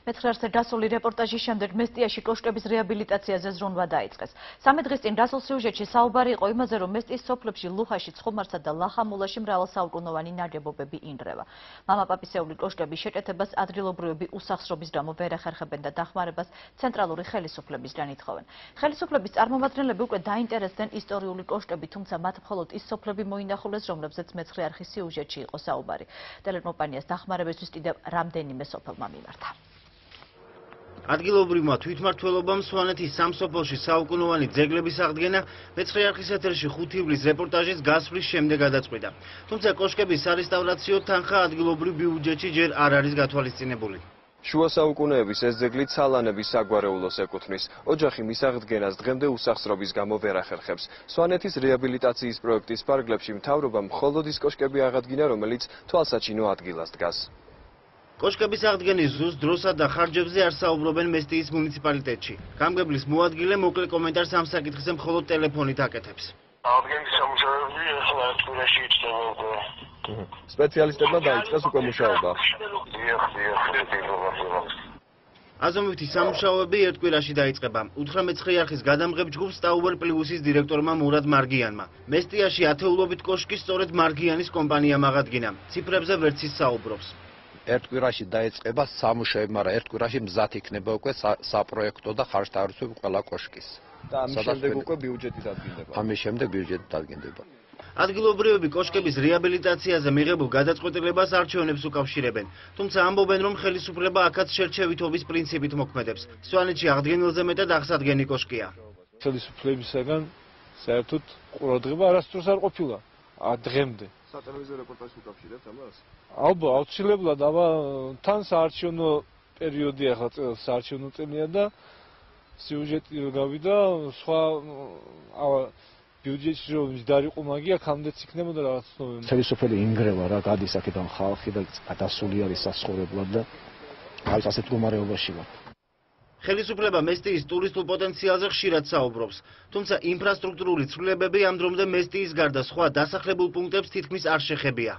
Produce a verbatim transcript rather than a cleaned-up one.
მეცხრე არხზე დასული რეპორტაჟის შემდეგ მესტიაში კოშკების რეაბილიტაციაზე ზრუნვა დაიწყეს. სამი დღის წინ დასულ სიუჟეტში საუბარი იყო იმაზე, რომ მესტიის სოფლებში ლუხაში, ცხომარსა და ლახამულაში მრავალსაუკუნოვანი ნაგებობები ინდრევა. მამაპაპისეული კოშკების შეჭეთებას ადგილობრივები უსახსრობის გამო ვერ ეხერხებენ და დახმარებას ცენტრალური ხელისუფლებისგან ითხოვენ. ხელისუფლების წარმომადგენლები უკვე დაინტერესდნენ ისტორიული კოშკებით, თუმცა მათ მხოლოდ ის სოფლები მოინახულეს, რომლებზეც მეცხრე არხის სიუჟეტში იყო საუბარი. ტელეკომპანიას დახმარებისთვის კიდევ რამდენიმე სოფელმა მიმართა. ადგილობრივმა თვითმმართველობამ სვანეთის სამ სოფელში საუკუნოვანი ძეგლების აღდგენა მეცხრე არხის ეთერში ხუთი ივლის რეპორტაჟის გასვლის შემდეგ გადაწყვიტა. თუმცა კოშკების სარესტავრაციო თანხა ადგილობრივ ბიუჯეტში ჯერ არ არის გათვალისწინებული. შუა საუკუნეების ეს ძეგლი ცალანების საგვარეულოს ეკუთვნის. ოჯახი მის აღდგენას დღემდე უსახსრობის გამო ვერ ახერხებს. სვანეთის რეაბილიტაციის პროექტის ფარგლებში მთავრობამ მხოლოდ ის კოშკები აღადგინა, რომელიც თვალსაჩინო ადგილას დგას. კოშკების აღდგენის ზუსტ დროსა და ხარჯებზე არ საუბრობენ მესტიის მუნიციპალიტეტში. გამგებლის მოადგილე მოკლე კომენტარს ამ საკითხზე მხოლოდ ტელეფონით აკეთებს. აღდგენის სამუშაოები ახლა ერთ კვირაში იწყება. სპეციალისტებმა დაიწყეს უკვე მუშაობა. აზომვითი სამუშაოები ერთ კვირაში დაიწყება. უთხრა მეცხრე არხის გადამღებ ჯგუფს Tower Plus-ის დირექტორმა მურად მარგიანმა. მესტიაში ათეულობით კოშკი სწორედ მარგიანის კომპანიამ აღადგინა. ციფრებზე ვერც ის საუბრობს. ერთ კვირაში დაიწყება სამუშაოები, მაგრამ ერთ კვირაში მზად იქნება უკვე საპროექტო და ხარჯ-თავისუფლება ყველა კოშკის. და ამის შემდეგ უკვე ბიუჯეტი დადგინდება. ამის შემდეგ ბიუჯეტი დადგინდება. ადგილობრივები კოშკების რეაბილიტაციაზე მიღებულ გადაწყვეტილებას არჩევნებს უკავშირებენ. თუმცა ამბობენ, რომ ხელისუფლება აქაც შერჩევითობის პრინციპით მოქმედებს. სვანეთში აღდგენილზე მეტად აღსადგენი კოშკია. ხელისუფლებისაგან საერთოდ ყურადღება არასდროს არ ყოფილა დღემდე. სატელევიზიო რეპორტაჟს უკავშირებთ ამას? ალბათ, აუცილებლად, აბა თან საარჩევნო პერიოდი ახლა საარჩევნო წელია და სიუჟეტი გავიდა სხვა ბიუჯეტში რომ დაიყო მაგია ხამდეც იქნებოდა რაღაც ნომერი. ხელისუფლება ინგრევა რა, გადის აქედან ხალხი და გადასული არის სასწორებლად და არის ასეთ მდგომარეობაში ვარ. ხელისუფლება მესტიის ტურისტულ პოტენციალზე ხშირად საუბრობს. თუმცა ინფრასტრუქტურული ცვლილებები ამ დრომდე მესტიის გარდა სხვა დასახლებულ პუნქტებს თითქმის არ შეხებია.